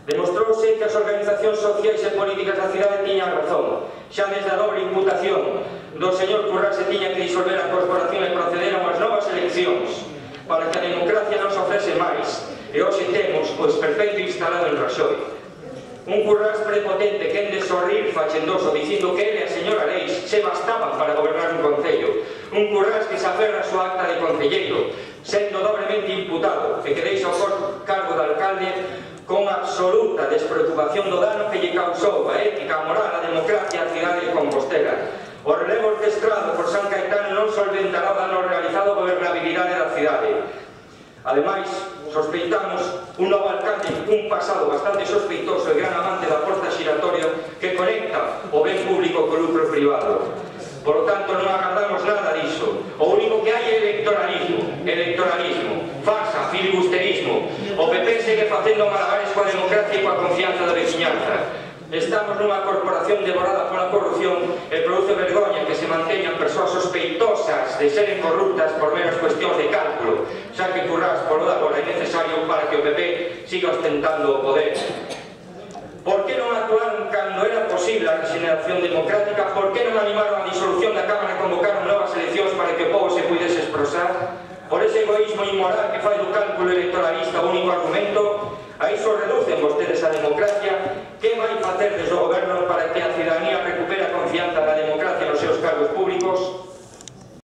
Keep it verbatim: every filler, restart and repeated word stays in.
Demostrouse que as organizacións sociais e políticas da cidade tiñan razón. Xa desde a dobre imputación do señor Currás se tiña que disolver a corporación e proceder a unhas novas eleccións para que a democracia non se ofrece máis. E hoxe temos o esperpeito instalado en Raxoi. Un Currás prepotente que en de sorrir fachendoso dicindo que ele e a señora Leis se bastaban para gobernar un concello. Un Currás que se aferra a súa acta de concelleiro, sendo dobremente imputado e que deixa o cargo de alcalde con absoluta despreocupación do dano que lle causou a ética, a moral, a democracia a cidade de Compostela. O relevo orquestrado por San Caetano non solventará o dano realizado a gobernabilidade da cidade. Ademais, sospeitamos un novo alcalde cun pasado bastante sospeitoso e gran amante da porta xiratoria que conecta o ben público co lucro privado. Por lo tanto, non agardamos nada diso. O único que hai é electoralismo, electoralismo, farsa, filibusterismo. O P P segue facendo malabares coa democracia e coa confianza da veciñanza. Estamos nunha corporación devorada pola corrupción e produce vergoña que se manteñan persoas sospeitosas de seren corruptas por meras cuestións de cálculo, xa que Currás polo de agora é necesario para que o P P siga ostentando o poder. Por que non actuaron cando era posible a regeneración democrática? Por que non animaron a disolución da Cámara e convocaron novas eleccións para que o povo se pudese expresar? Por ese egoísmo inmoral que fai do cálculo electoralista o único argumento? A iso reducen vostedes a democracia. Que vai facer desde o goberno para que a cidadanía recupere a confianza na democracia nos seus cargos públicos?